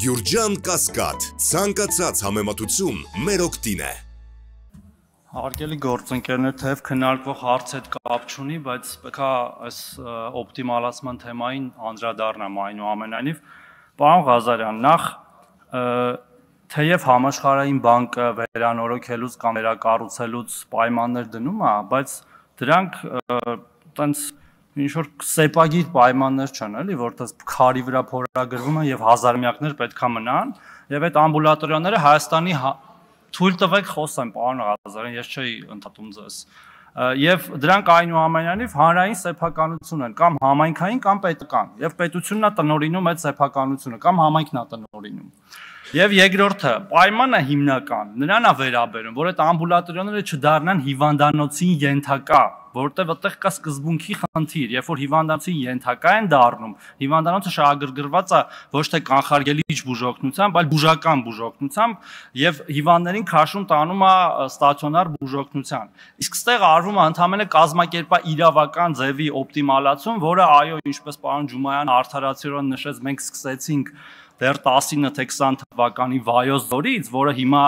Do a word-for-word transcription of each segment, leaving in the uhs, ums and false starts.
Գյուրջան Կասկադ, ցանկացած համեմատություն մեր օգտին է։ Հարգելի գործընկերներ, թեև քննարկվող հարցը հետ կապ չունի, բայց պետք է այս օպտիմալացման թեմային անդրադառնամ այնուամենայնիվ։ Պարոն Ղազարյան, նախ թեև համաշխարհային բանկը վերանորոգելուց կամ վերակառուցելուց պայմաններ դնում է, բայց դրանք տենց ինչ-որ սեպագիր պայմաններ չեն, էլի, որտեղ քարի վրա փորագրվում են եւ հազարամյակներ պետք է մնան, եւ այդ ամբուլատորիաները Հայաստանի թույլ տվեք խոսեմ, պարոն Ղազարյան, ես չէի ընդհատում ձեզ։ Եվ դրանք այնուամենայնիվ հանրային սեփականություն են, կամ համայնքային, կամ պետական, եւ պետությունն է տնօրինում այդ սեփականությունը, կամ համայնքն է տնօրինում։ Եվ երկրորդը, պայմանը հիմնական, նրան է վերաբերում, որ այդ ամբուլատորիաները չդառնան հիվանդանոցին ենթակա, որտեղ այդտեղ կա սկզբունքի խնդիր, երբ որ հիվանդանոցին ենթակա են դառնում, հիվանդանոցը շահագրգռված է ոչ թե կանխարգելիչ բուժօգնությամբ, այլ բուժական բուժօգնությամբ եւ հիվանդներին քաշում տանում է ստացիոնար բուժօգնության։ Իսկ ստեղ արվում է ընդհանրապես կազմակերպա իրավական ձևի օպտիմալացում, որը այո, ինչպես պարոն Ջումայանը արդարացիորեն նշեց, մենք սկսեցինք դեռ տասինը թե քսան թվականի վայոց ձորից, որը հիմա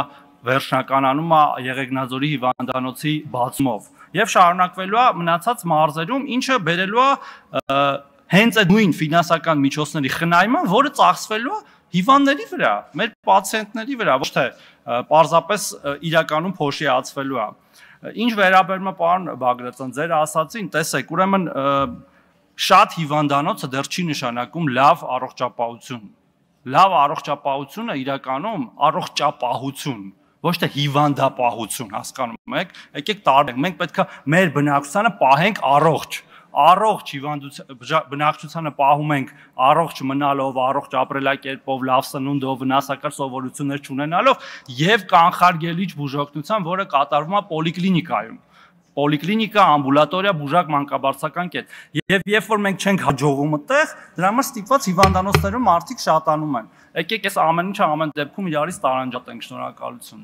վերջնականանում է Եղեգնաձորի հիվանդանոցի բացումով եւ շարունակվելու է մնացած մարզերում, ինչը բերելու է հենց այդ նույն ֆինանսական միջոցների խնայման, որը ծախսվելու է հիվանդների վրա, մեր պացիենտների վրա, ոչ թե պարզապես իրականում փոշիացվելու է։ Ինչ վերաբերում է պարոն Բագրատյան, ձեր ասացին, տեսեք, ուրեմն շատ հիվանդանոցը դեռ չի նշանակում լավ առողջապահություն։ Լավ առողջապահությունը իրականում առողջապահություն, ոչ թե հիվանդապահություն, հասկանում եք, եկեք տարբերենք, մենք պետք է մեր բնակչությանը պահենք առողջ, առողջ բնակչությանը պահում ենք առողջ մնալով, առողջ ապրելակերպով, լավ սնունդով, վնասակար սովորություններ չունենալով եւ կանխարգելիչ բուժօգնությամբ, որը կատարվում է պոլիկլինիկայում։ Պոլիկլինիկա, ամբուլատորիա, բուժակ մանկաբարձական կետ։ Եվ երբ որ մենք չենք հաջողում այդտեղ, դրա համար ստիպված հիվանդանոցներում մարդիկ շատանում են։ Եկեք այս ամեն ինչը ամեն դեպքում իրարից տարանջատենք, շնորհակալություն։